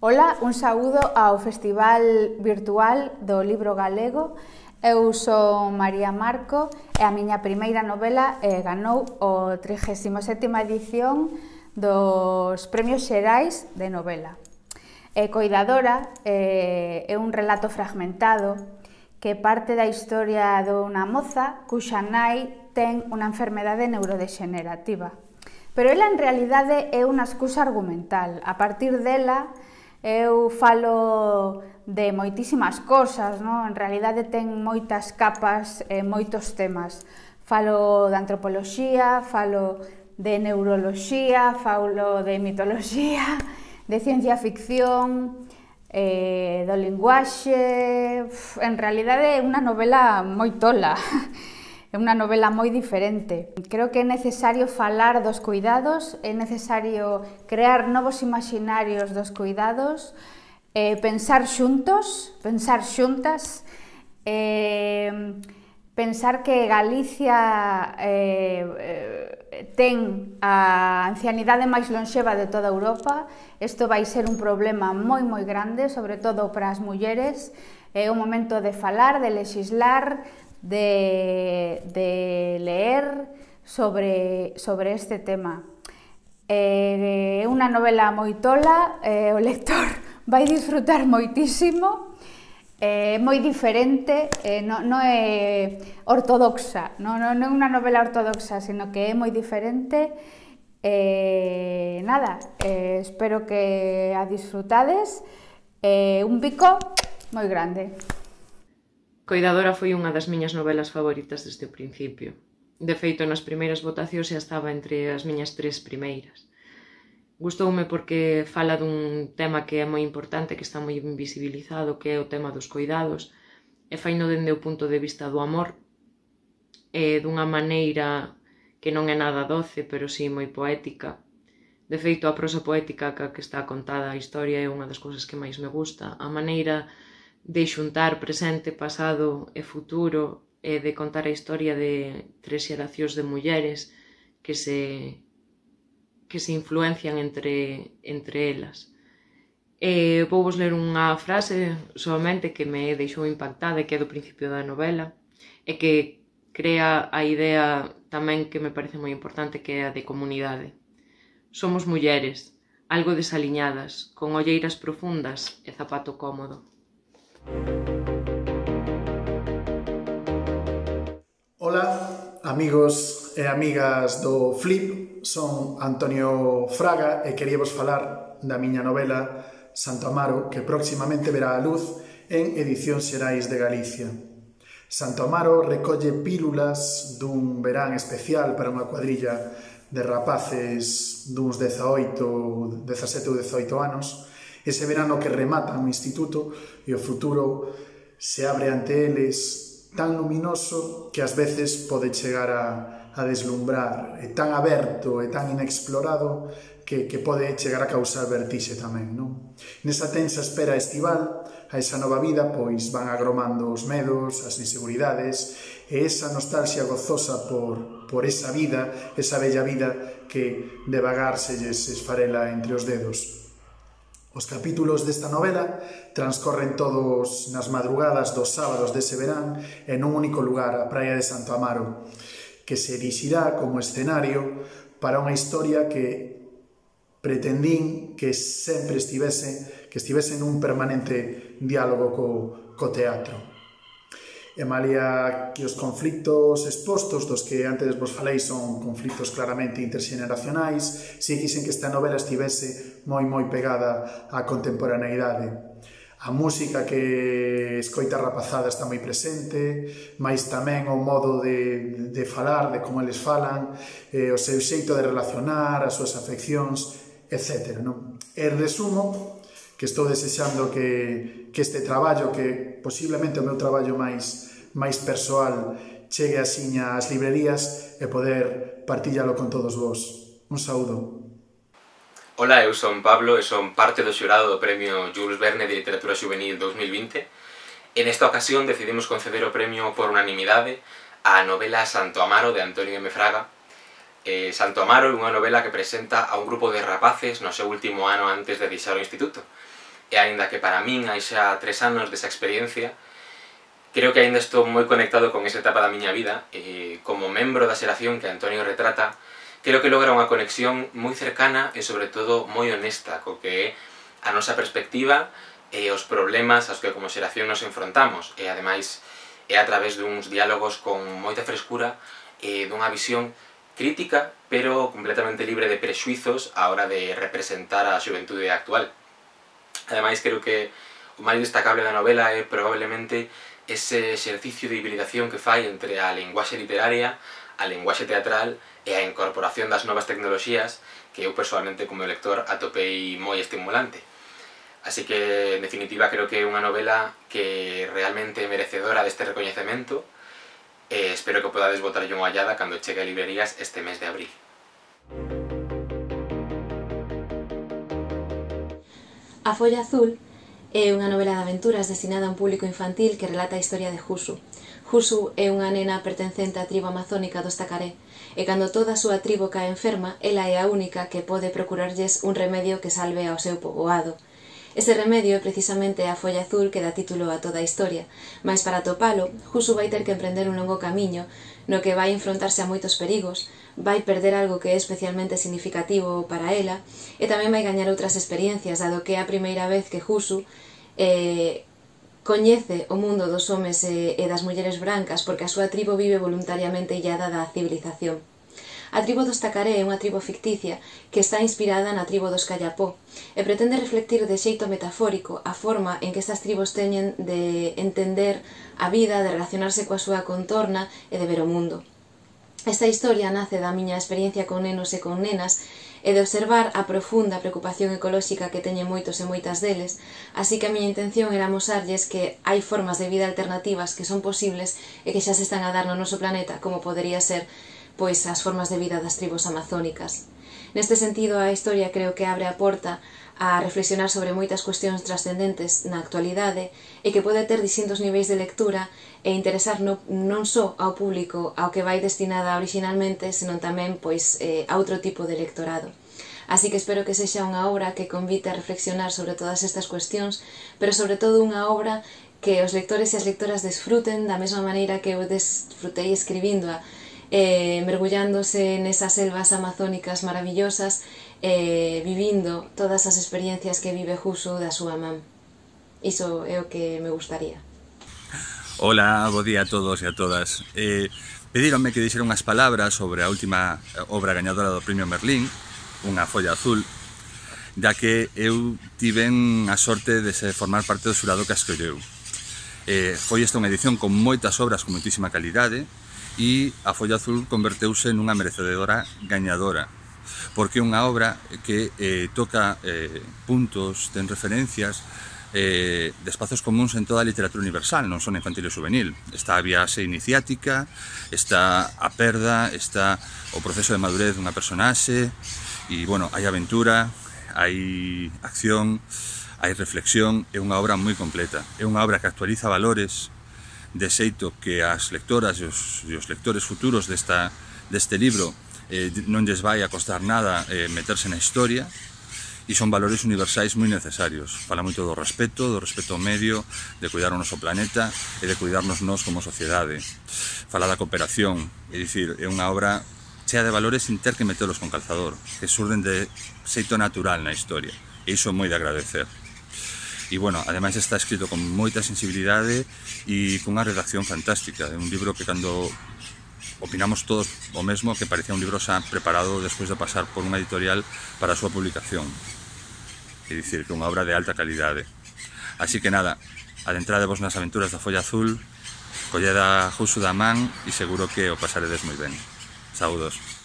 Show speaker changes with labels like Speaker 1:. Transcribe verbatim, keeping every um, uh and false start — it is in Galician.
Speaker 1: Ola, un saúdo ao Festival Virtual do Libro Galego. Eu son María Marco e a miña primeira novela eh, ganou o trigésima sétima edición dos Premios Xerais de Novela. E Coidadora eh, é un relato fragmentado que parte da historia dunha moza cuxa nai ten unha enfermedade neurodexenerativa. Pero ela en realidade é unha excusa argumental. A partir dela eu falo de moitísimas cosas, non? En realidade ten moitas capas e moitos temas. Falo de antropoloxía, falo de neuroloxía, falo de mitoloxía, de ciencia ficción, eh, do linguaxe. En realidade é unha novela moi tola. É unha novela moi diferente. Creo que é necesario falar dos cuidados, é necesario crear novos imaginarios dos cuidados, eh, pensar xuntos, pensar xuntas, eh, pensar que Galicia eh, ten a ancianidade máis lonxeva de toda Europa. Isto vai ser un problema moi moi grande, sobre todo para as mulleres. É o momento de falar, de lexislar, de, de leer sobre, sobre este tema. É unha novela moi tola, eh, o lector vai disfrutar moitísimo, é moi diferente, eh, non, non é ortodoxa, non, non é unha novela ortodoxa, sino que é moi diferente. Eh, nada, eh, espero que a disfrutades, eh, un bico moi grande.
Speaker 2: Coidadora foi unha das miñas novelas favoritas desde o principio. De feito, nas primeiras votacións xa estaba entre as miñas tres primeiras. Gustoume porque fala dun tema que é moi importante, que está moi invisibilizado, que é o tema dos coidados, e faino dende o punto de vista do amor, e dunha maneira que non é nada doce, pero si moi poética. De feito, a prosa poética que está contada a historia é unha das cousas que máis me gusta. A maneira de xuntar presente, pasado e futuro, e de contar a historia de tres xeracións de mulleres que se, que se influencian entre, entre elas. E vou vos ler unha frase solamente que me deixou impactada e que é do principio da novela e que crea a idea tamén que me parece moi importante, que é a de comunidade. Somos mulleres, algo desaliñadas, con olleiras profundas e zapato cómodo.
Speaker 3: Ola, amigos e amigas do Flip, son Antonio Fraga e queríavos falar da miña novela Santo Amaro, que próximamente verá a luz en Edicións Xerais de Galicia. Santo Amaro recolle pílulas dun verán especial para unha cuadrilla de rapaces duns dezaoito, dezasete ou dezaoito anos. Ese verano que rematan o instituto e o futuro se abre ante eles tan luminoso que ás veces pode chegar a, a deslumbrar, e tan aberto e tan inexplorado que, que pode chegar a causar vertixe tamén, non? Nesa tensa espera estival a esa nova vida, pois van agromando os medos, as inseguridades e esa nostalgia gozosa por, por esa vida, esa bella vida que devagar se lles esfarela entre os dedos. Os capítulos desta novela transcorren todos nas madrugadas dos sábados dese verán en un único lugar, a praia de Santo Amaro, que se erixirá como escenario para unha historia que pretendín que sempre estivese, que estivese nun permanente diálogo co, co teatro. E malia que os conflictos expostos dos que antes vos falei son conflictos claramente interxeneracionais, si quixen que esta novela estivese moi moi pegada á contemporaneidade. A música que escoita a rapazada está moi presente, mais tamén o modo de, de falar, de como eles falan, eh, o seu xeito de relacionar, as súas afeccións, etcétera. Non? E resumo que estou desexando que, que este traballo, que posiblemente o meu traballo máis, máis persoal, chegue asiña ás librerías e poder partillalo con todos vos. Un saúdo.
Speaker 4: Ola, eu son Pablo e son parte do xurado do Premio Jules Verne de Literatura Juvenil dos mil vinte. En esta ocasión decidimos conceder o premio por unanimidade á novela Santo Amaro de Antonio M. Fraga. Eh, Santo Amaro é unha novela que presenta a un grupo de rapaces no seu último ano antes de deixar o instituto. e aínda que para min hai xa tres anos desa experiencia, creo que aínda estou moi conectado con esa etapa da miña vida, e como membro da xeración que Antonio retrata, creo que logra unha conexión moi cercana e sobre todo moi honesta co que é a nosa perspectiva e os problemas aos que como xeración nos enfrontamos, e ademais é a través duns diálogos con moita frescura e dunha visión crítica, pero completamente libre de prexuizos á hora de representar a xuventude actual. Ademais, creo que o máis destacable da novela é probablemente ese exercicio de hibridación que fai entre a linguaxe literaria, a linguaxe teatral e a incorporación das novas tecnoloxías que eu personalmente como lector atopei moi estimulante. Así que, en definitiva, creo que é unha novela que realmente é merecedora deste recoñecemento e espero que podades botarlle unha ollada cando chegue a librerías este mes de abril.
Speaker 5: A Folla Azul é unha novela de aventuras destinada a un público infantil que relata a historia de Jusu. Jusu é unha nena pertencente á tribo amazónica dos Tacaré, e cando toda a súa tribo cae enferma, ela é a única que pode procurarlles un remedio que salve ao seu poboado. Ese remedio é precisamente a folla azul que dá título a toda a historia, mas para atopalo, Jusu vai ter que emprender un longo camiño no que vai enfrontarse a moitos perigos, vai perder algo que é especialmente significativo para ela e tamén vai gañar outras experiencias, dado que é a primeira vez que Jusu eh, coñece o mundo dos homes e, e das mulleres brancas porque a súa tribo vive voluntariamente illada da civilización. A tribo dos Tacaré é unha tribo ficticia que está inspirada na tribo dos Callapó e pretende reflectir de xeito metafórico a forma en que estas tribos teñen de entender a vida, de relacionarse coa súa contorna e de ver o mundo. Esta historia nace da miña experiencia con nenos e con nenas e de observar a profunda preocupación ecolóxica que teñen moitos e moitas deles, así que a miña intención era mosarlles que hai formas de vida alternativas que son posibles e que xa se están a dar no noso planeta, como podería ser pois as formas de vida das tribos amazónicas. Neste sentido, a historia creo que abre a porta a reflexionar sobre moitas cuestións trascendentes na actualidade e que pode ter distintos niveis de lectura e interesar no, non só ao público ao que vai destinada originalmente, senón tamén pois, eh, a outro tipo de lectorado. Así que espero que sexa unha obra que convite a reflexionar sobre todas estas cuestións, pero sobre todo unha obra que os lectores e as lectoras desfruten da mesma maneira que eu desfrutei escribíndoa, Eh, mergullándose nesas selvas amazónicas maravillosas, eh, vivindo todas as experiencias que vive Jusu da súa man. Iso é o que me gustaría.
Speaker 6: Hola, bo día a todos e a todas. Eh, pedíronme que dixera unhas palabras sobre a última obra gañadora do Premio Merlín, Unha folla azul, da que eu tiven a sorte de se formar parte do xurado que a escolleu. Eh, foi esta unha edición con moitas obras con moitísima calidade, e a folla azul converteuse nunha merecedora gañadora, porque é unha obra que eh, toca eh, puntos, ten referencias eh, de espazos comuns en toda a literatura universal, non só na infantil e juvenil. Está a viaxe iniciática, está a perda, está o proceso de madurez dunha personaxe, e, bueno, hai aventura, hai acción, hai reflexión, é unha obra moi completa. É unha obra que actualiza valores de xeito que as lectoras e os, e os lectores futuros desta, deste libro eh, non lles vai a costar nada eh, meterse na historia, e son valores universais moi necesarios. Fala moito do respeto, do respeto ao medio, de cuidar o noso planeta e de cuidarnos nós como sociedade. Fala da cooperación, é dicir, é unha obra chea de valores sin ter que metelos con calzador, que surden de xeito natural na historia, e iso é moi de agradecer. E, bueno, ademais está escrito con moita sensibilidade e cunha redacción fantástica. É un libro que cando opinamos todos o mesmo, que parecía un libro xa preparado despois de pasar por unha editorial para a súa publicación. É dicir, que é unha obra de alta calidade. Así que nada, adentradevos nas aventuras da folla azul, colled a Jusu da man e seguro que o pasaredes moi ben. Saúdos.